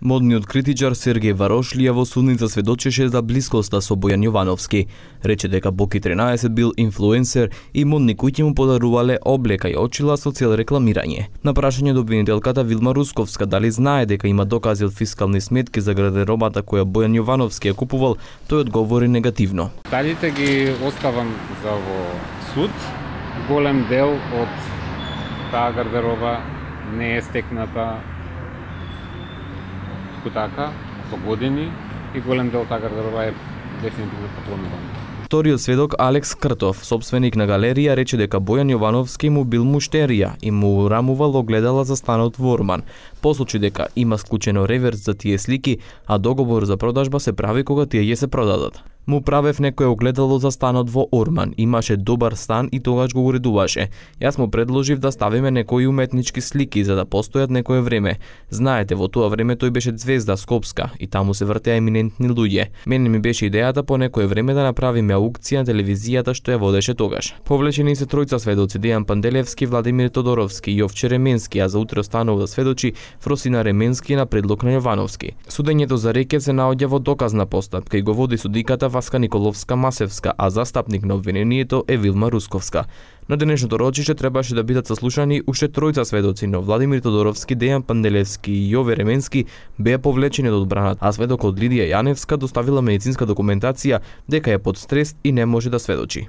Модниот критичар Сергеј Варошлија во судница сведочеше за блискоста со Бојан Јовановски. Рече дека Боки 13 бил инфлуенсер и модни куќи му подарувале облека и очила со цел рекламирање. На прашање до обвинителката Вилма Русковска дали знае дека има докази од фискални сметки за гардеробата која Бојан Јовановски ја купувал, тој одговори негативно. Деталите ги оставам за во суд. Голем дел од таа гардероба не е стекната така, со години и голем дел таа гардероба е дефинитивно поклонувана. Вториот сведок Алекс Кртов, собственик на галерија, рече дека Бојан Јовановски му бил муштерија и му урамувал огледала за станот во Орман. Посочи дека има склучено реверс за тие слики, а договор за продажба се прави кога тие ќе се продадат. Му правев некое огледало за станот во Орман, имаше добар стан и тогаш го уредуваше. Јас му предложив да ставиме некои уметнички слики за да постојат некое време. Знаете, во тоа време тој беше звезда скопска и таму се вртеа еминентни луѓе. Мене ми беше идејата по некое време да направиме аукција на телевизијата што ја водеше тогаш. Повлечени се тројца сведоци: Дејан Панделевски, Владимир Тодоровски и Јовче Ременски, а за утре останува да сведочи Фросина Ременски на предлог на Јовановски. Судењето за рекет се наоѓа во доказна постапка и го води судиката Васка Николовска-Масевска, а застапник на обвинението е Вилма Русковска. На денешното рочище требаше да бидат сослушани уште тројца сведоци, но Владимир Тодоровски, Дејан Панделевски и Јове Ременски беа повлечени од одбраната, а сведокот Лидија Јаневска доставила медицинска документација дека е под стрес и не може да сведочи.